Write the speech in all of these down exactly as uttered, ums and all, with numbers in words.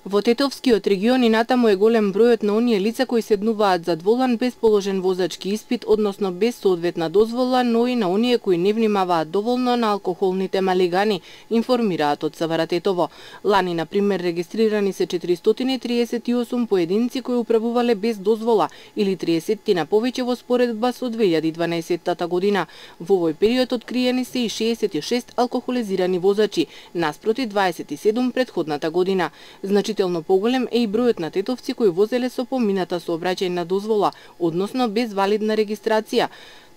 Во Тетовскиот регион и натаму е голем бројот на оние лица кои седнуваат зад волан без положен возачки испит, односно без соодветна дозвола, но и на оние кои не внимаваат доволно на алкохолните малигани, информираат од СВР Тетово. Лани, на пример, регистрирани се четиристотини и триесет и осум поединци кои управувале без дозвола, или триесет на повеќе во споредба со две илјади и дванаесетта година. Во овој период откриени се и шеесет и шест алкохолизирани возачи, наспроти дваесет и седум претходната година. Значително поголем е и бројот на тетовци кои возеле со помината сообраќајна дозвола, односно без валидна регистрација.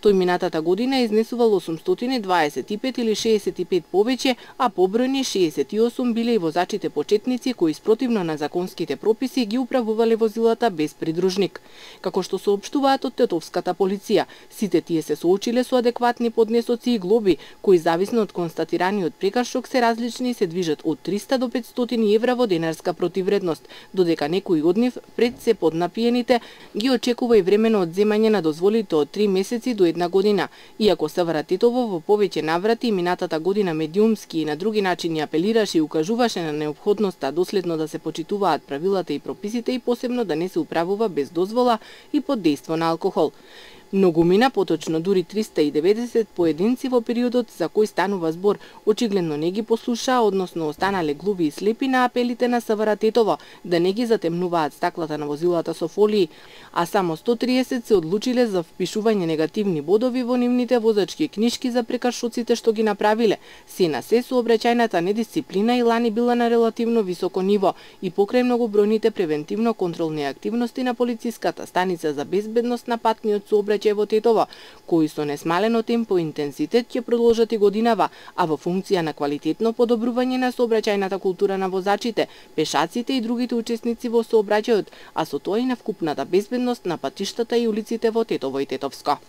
Тој минатата година изнесувал осумстотини дваесет и пет или шеесет и пет повеќе, а побројни шеесет и осум биле и возачите почетници кои спротивно на законските прописи ги управувале возилата без придружник. Како што соопштуваат од тетовската полиција, сите тие се соочиле со адекватни поднесоци и глоби, кои зависно од констатираниот прекршок се различни и се движат од триста до петстотини евра во денарска противредност, додека некои од нив пред се поднапиените ги очекува и времено одземање на дозволите од три месеци до една година. Иако СВР Тетово во повеќе наврати минатата година медиумски и на други начини апелираше и укажуваше на неопходноста доследно да се почитуваат правилата и прописите и посебно да не се управува без дозвола и под дејство на алкохол. Многумина, поточно дури триста и деветдесет поединци во периодот за кој станува збор, очигледно не ги послушаа, односно останале глуви и слепи на апелите на СВР Тетово да не ги затемнуваат стаклата на возилата со фолии, а само сто триесет се одлучиле за впишување негативни бодови во нивните возачки книшки за прекршоците што ги направиле. Се на се сообраќајната недисциплина и лани била на релативно високо ниво и покрај многобројните превентивно-контролни активности на полициската станица за безбедност на патниот сообраќај во Тетово, кои со несмалено темпо и интензитет ќе продолжат и годинава, а во функција на квалитетно подобрување на сообраќајната култура на возачите, пешаците и другите учесници во сообраќајот, а со тоа и на вкупната безбедност на патиштата и улиците во Тетово и Тетовско.